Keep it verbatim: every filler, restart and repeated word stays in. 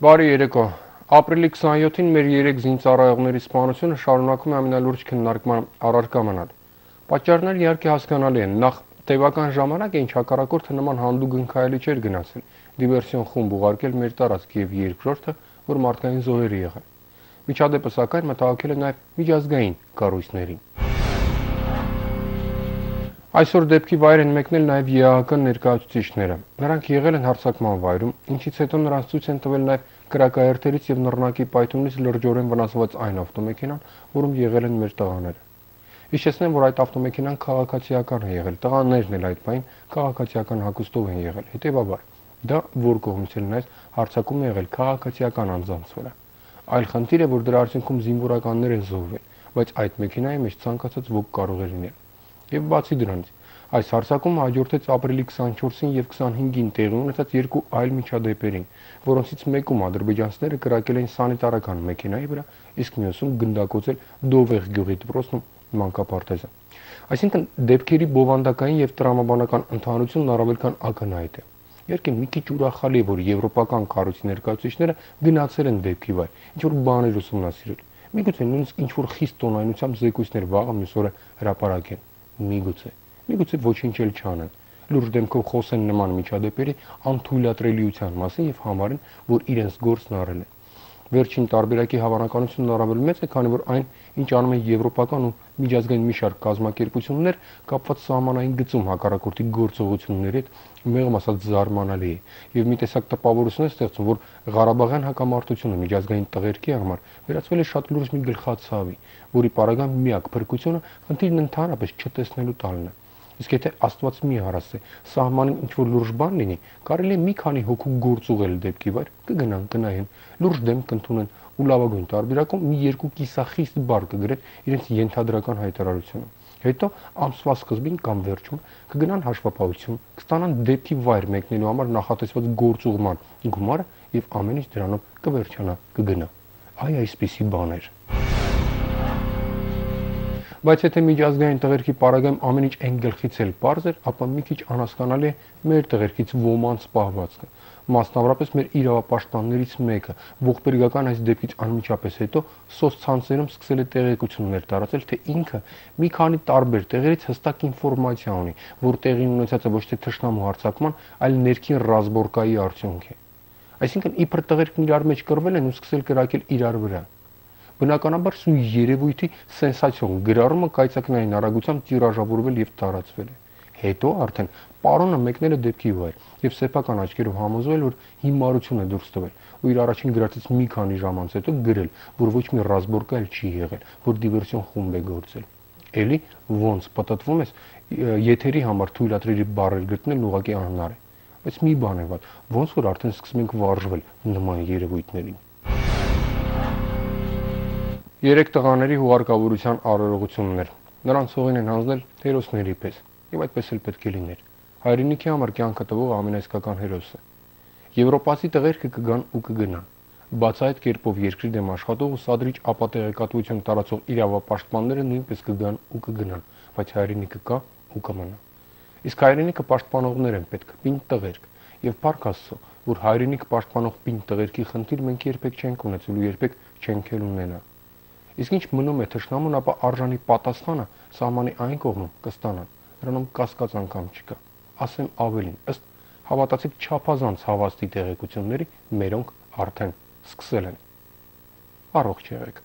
Բարի երեկո։ Ապրիլի քսաներկուին մեր երեք զինծառայողների սպանությունը շարունակում է ամենալուրջ քննարկման առարկա մնալ։ Պատճառները իհարկե հասկանալի են։ Նախ տևական ժամանակ է ինչ հակառակորդը նման հանդուգն ընկայելի չէր գնացել։ Դիվերսիոն խումբ ուղարկել մեր տարածք եւ երկրորդը, որ մարդկային զոհեր է եղել։ Միջադեպը սակայն մտահոգել է նաեւ միջազգային կառույցներին։ Այսօր դեպքի վայր են մեկնել նաև ԵԱՀԿ ներկայացուցիչները։ Նրանք եղել են հարձակման վայրում, ինչից հետո նրանց ցույց են տվել նաև կրակաերթերից եւ նռնակի պայթյունից լրջորեն վնասված այն ավտոմեքենան, որում եղել են մեր տղաները։ Հիշեցնեմ, որ այդ ավտոմեքենան քաղաքացիական է եղել, տղաներն էլ այդ բան քաղաքացիական հագուստով են եղել։ Հետևաբար, դա որ կողմից էլ նայես, հարձակում է եղել քաղաքացիական անձանց վրա։ Այլ խնդիր է, որ դրա արդյունքում զինվորականներ են զոհվել, բայց այդ մեքենայի մեջ ցանկացած ոք կարող է լինել։ Եվ բացի դրանից, այս հարձակումը հաջորդեց ապրիլի քսաներկուին եւ քսանհինգին տեղի ունեցած երկու այլ միջադեպերին, որոնցից մեկում ադրբեջանցիները կրակել էին սանիտարական մեքենայի վրա, իսկ մյուսում գնդակոծել Դովեղ գյուղի դպրոցն ու մանկապարտեզը։ Այսինքն դեպքերի բովանդակային եւ տրամաբանական ընդհանրությունն առավել քան ակնհայտ է։ Իհարկե մի քիչ ուրախալի է, որ եվրոպական կառույցի ներկայացուցիչները գնացել են դեպքի վայր, ինչ որ բաներ ուսումնասիրել։ Միգուցե նույնիսկ ինչ որ խիստ տոնայնությամբ զեկույցներ վաղը մյուս օրը հրապարակեն։ Միգուցե, միգուցե ոչինչ էլ չանեն, լուրջ դեմքով խոսեն նման միջադեպերի անթույլատրելիության մասին եւ համարեն, որ իրենց գործն արել են։ Վերջին տարբերակի հավանականությունն առավել մեծ է, քանի որ այն, ինչ անում են եվրոպական ու միջազգային մի շարք կազմակերպություններ, կապված սահմանային գծում հակառակորդի գործողությունների հետ, մեղմ ասած զարմանալի է, եւ մի տեսակ տպավորություն է ստեղծում, որ Ղարաբաղյան հակամարտությունը միջազգային տղերքի համար վերածվել է շատ լուրջ մի գլխացավի, որի պարագան միակ փրկությունը խնդիրն ընդհանրապես չտեսնելու տալն է։ Իսկ եթե Աստված մի հարասե, սահմանին ինչ որ լուրջ բան լինի, կարելի է մի քանի հոգու գործ ուղղել դեպքի վայր, կգնան, կնայեն, լուրջ դեմ կընդունեն ու լավագույն տարբերակում մի երկու կիսախիստ բառ կգրեն իրենց ենթադրական հայտարարությունը։ Հետո ամսվա սկզբին կամ վերջում կգնան հաշվապահություն, կստանան դեպքի վայր մեկնելու համար նախատեսված գործուղման գումարը եւ ամեն ինչ դրանով կվերջանա, կգնա։ Այ այսպիսի բաներ։ Բայց եթե միջազգային տղերքի պարագայում ամեն ինչ այն գլխից էլ պարզ էր, ապա մի քիչ անհասկանալի է մեր տղերքից ոմանց պահվածքը։ Մասնավորապես մեր իրավապաշտպաններից մեկը ողբերգական այս դեպքից անմիջապես հետո սոցցանցերում սկսել է տեղեկություններ տարածել, թե ինքը մի քանի տարբեր տեղերից հստակ ինֆորմացիա ունի, որ տեղի ունեցածը ոչ թե թշնամու հարձակման, այլ ներքին ռազմորկայի արդյունք է։ Այսինքն իբր տղերքն իրար մեջ կռվել են ու սկսել կրակել իրար վրա։ Բնականաբար սույն երևույթի սենսացիոն գրառումը կայծակնային արագությամբ տիրաժավորվել եւ տարածվել է։ Հետո արդեն պարոնը մեկնել է դեպքի վայր եւ սեփական աչքերով համոզվել, որ հիմարություն է դուրս տվել ու իր առաջին գրածից մի քանի ժամ անց հետո գրել, որ ոչ մի ռազմորկա էլ չի եղել, որ դիվերսիոն խումբ է գործել։ Էլի ոնց պատտվում ես, եթերի համար թույլատրելի բառեր գտնելն ուղղակի անհնար է։ Բայց մի բան է վատ, ոնց որ արդեն սկսում ենք վարժվել նման երևույթներին։ Երեք տղաների հուղարկավորության արարողություններ։ Նրանց հողին են հանձնել հերոսների պես, եւ այդպես էլ պետք է լիներ։ Հայրենիքի համար կյանքը տվող ամենաիսկական հերոսը։ Եվրոպացի տղերքը կգան ու կգնան։ Բաց այդ կերպով երկրի դեմ աշխատող ու սադրիչ ապատեղեկատվություն տարածող իրավապաշտպանները նույնպես կգան ու կգնան, բայց հայրենիքը կա ու կմնա։ Իսկ հայրենիքը պաշտպանողներ են պետք, պինդ տղերք, եւ փառք Աստծո, որ հայրենիք պաշտպանող պինդ տղերքի խնդիր մենք երբեք չենք ունեցել ու երբեք չենք էլ ունենա։ Իսկ ինչ մնում է թշնամուն, ապա արժանի պատասխանը սահմանի այն կողմում կստանան, նրանում կասկած անգամ չկա։ Ասեմ ավելին, ըստ հավատացիք չափազանց հավաստի տեղեկությունների, մերոնք արդեն սկսել են։ Առողջ եղեք։